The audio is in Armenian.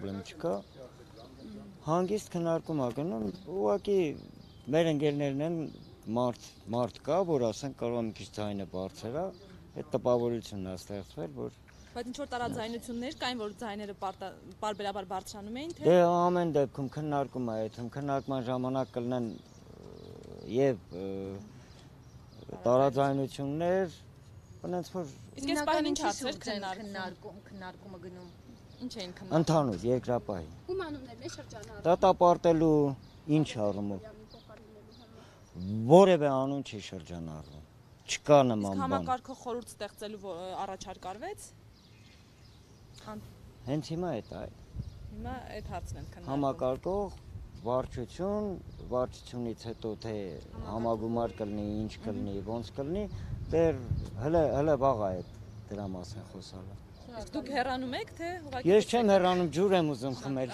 պրոբլեմ չկա։ Հանգիստ քննարկում ա գնում, ուղղակի մեր ընկերներն են մարդ կա, որ ասենք կարող է մի քիչ ձայնը բարձր է, այդ տպավորությունն է ստեղծվել, որ Բայց ինչ որ տարաձայնություններ կային, որ ձայները պարբերաբար բարձրանում էին, թե դե ամեն դեպքում քննարկում է, այդ քննարկման ժամանակ կլինեն եւ տարաձայնություններ, այնց որ իսկ այս պահին ինչ հարցեր քննարկումը գնում։ Ինչ էին քննարկում։ Ընդհանուր երկրապահի։ Ում անուններն է շրջանառվում։ Դատապարտելու ինչ առումով։ Որևէ անուն չի շրջանառվում։ Չկա նման Իսկ բան։ համակարգող խորհուրդ ստեղծելու առաջարկ արվեց։ Հենց հիմա է դա։ Հիմա այդ հարցն են քննարկում։ Համակարգող վարչություն, վարչությունից հետո թե համագումար կլինի, ինչ կլինի, ոնց կլինի, դեռ հələ վաղ է դրա մասին խոսալը։ Իսկ դուք հեռանում եք, թե ուղղակի։ Ես չեմ հեռանում, ջուր եմ ուզում խմել։